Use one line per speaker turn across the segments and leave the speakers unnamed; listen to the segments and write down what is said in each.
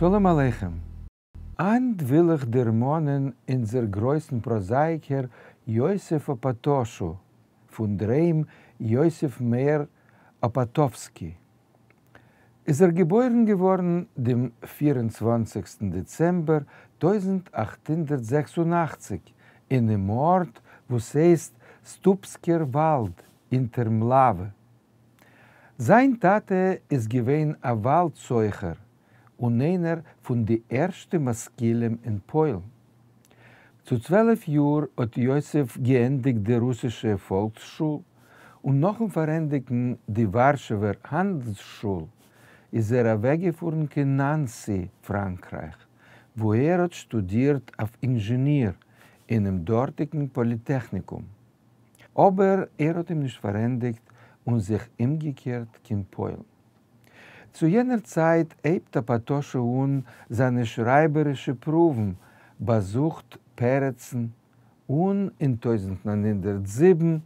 שלום עליכם. הײַנט וויל איך דערמאָנען אונדזער גרויסן פּראָזאַיִקער יוסף אָפּאַטאָשו, פֿון דער היים יוסף מאיר אָפּאַטאָווסקי. איז ער געבוירן געוואָרן דעם 24סטן דעצעמבער 1886 אינעם אָרט, וואָס הייסט סטופּסקער וואַלד אונטער מלאַווע. זײַן טאַטע איז געווען אַ וואַלד-סוחר און איינער פֿון די ערשטע משׂכּילים אין פּוילן. צו 12 יאָר האָט יוסף געענדיקט די רוסישע פֿאָלקסשול און נאָכן פֿאַרענדיקן די וואַרשעווער האַנדלסשול איז ער אַוועקגעפֿאָרן קיין נאַנסי, פֿראַנקרײַך, וווּ ער האָט שטודירט אויף אינזשעניר אינעם דאָרטיקן פּאָליטעכניקום. אָבער ער האָט אים נישט פֿאַרענדיקט און זיך אומגעקערט קיין פּוילן. צו יענער צײַט הייבט אָפּאַטאָשו אָן זײַנע שרײַבערישע פּרוּוון, באַזוכט פּרצן, און אין 1907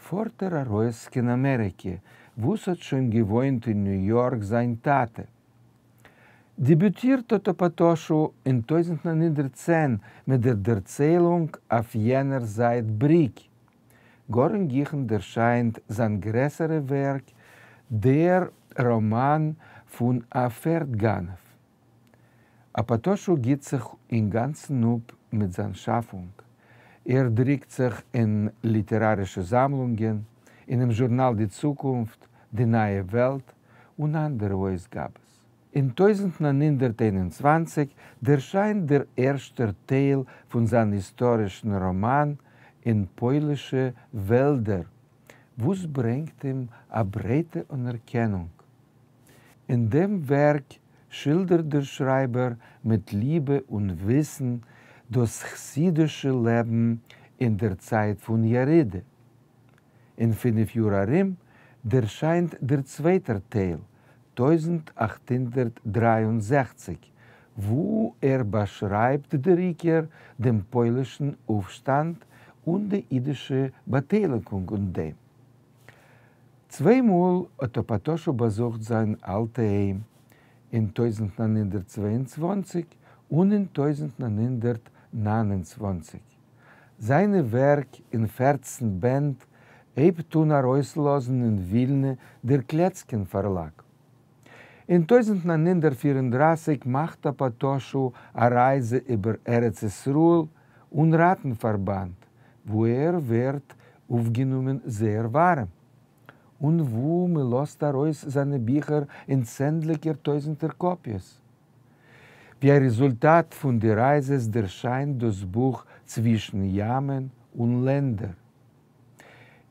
פֿאָרט ער אַרויס קיין אַמעריקע, וווּ ס'האָט שוין געוואוינט אין ניו-יאָרק זײַן טאַטע. דעביוטירט האָט אָפּאַטאָשו אין 1910 מיט דער דערציילונג אויף יענער זײַט בריק. גאָר אין גיכן דערשײַנט זײַן גרעסערע ווערק, דער ראָמאַן פֿון אַ פֿערד-גנבֿ. אָפּאַטאָשו גיט זיך אין גאַנצן אָפּ מיט זײַן שאַפֿונג. ער דרוקט זיך אין ליטעראַרישע זאַמלונגען, אינעם זשורנאַל די צוקונפֿט, די נײַע וועלט און אַנדערע אויסגאַבעס. אין 1921 דערשײַנט דער ערשטער טייל פֿון זײַן היסטאָרישן ראָמאַן אין פּוילישע וועלדער, וואָס ברענגט אים אַ ברייטע אָנערקענונג. אין דעם ווערק שילדערט דער שרײַבער מיט ליבע און וויסן דאָס חסידישע לעבן אין דער צײַט פֿון ירידה. אין פֿינף יאָר אַרום דערשײַנט דער צווייטער טייל, 1863, וווּ ער באַשרײַבט דער עיקר דעם פּוילישן אויפֿשטאַנד און די ייִדישע באַטייליקונג אין דעם. צוויי מאָל האָט אָפּאַטאָשו באַזוכט זײַן אַלטע היים, אין 1922 און אין 1929. זײַנע ווערק אין 14 בענד הייבט אָן אַרויסלאָזן אין ווילנע דער קלעצקין פֿאַרלאַג. אין 1934 מאַכט אָפּאַטאָשו אַ רײַזע איבער ארץ-ישׂראל און ראַטן-פֿאַרבאַנד, וווּ ער ווערט אויפֿגענומען זייער וואַרעם און וווּ מע לאָזט אַרויס זײַנע ביכער אין צענדליקער טויזנטער קאָפּיעס. ווי אַ רעזולטאַט פֿון די רײַזעס דערשײַנט דאָס בוך צווישן ימען און לענדער.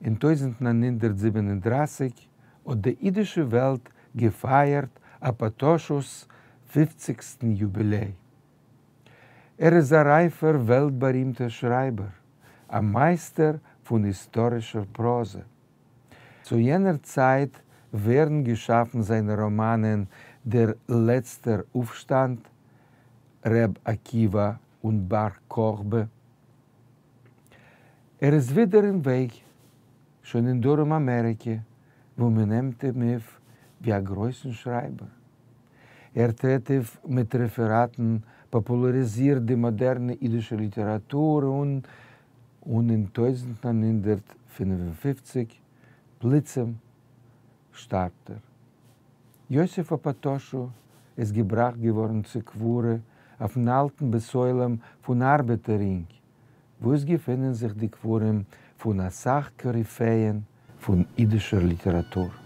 אין 1937 האָט די ייִדישע וועלט געפֿײַערט אָפּאַטאָשוס פֿופֿציקסטן יובילײ. ער איז אַ רײַפֿער וועלט-באַרימטער שרײַבער, אַ מײַסטער פֿון היסטאָרישער פּראָזע. צו יענער צײַט ווערן געשאַפֿן זײַנע ראָמאַנען דער לעצטער אויפֿשטאַנד, ר' עקיבֿא און בר-כּוכבא. ער איז ווידער אין וועג, שוין אין דרום-אַמעריקע, וווּ מע נעמט אים אויף ווי אַ גרויסן שרײַבער. ער טרעט אויף מיט רעפֿעראַטן, פּאָפּולאַריזירט די מאָדערנע ייִדישע ליטעראַטור און און אין 1955 פּלוצעם שטאַרבט ער. יוסף אָפּאַטאָשו איז געבראַכט געוואָרן צו קבֿורה אויפֿן אַלטן בית-עולם פֿון אַרבעטער-רינג, וווּ עס געפֿינען זיך די קבֿרים פֿון אַ סך קאָריפֿעען פֿון ייִדישער ליטעראַטור.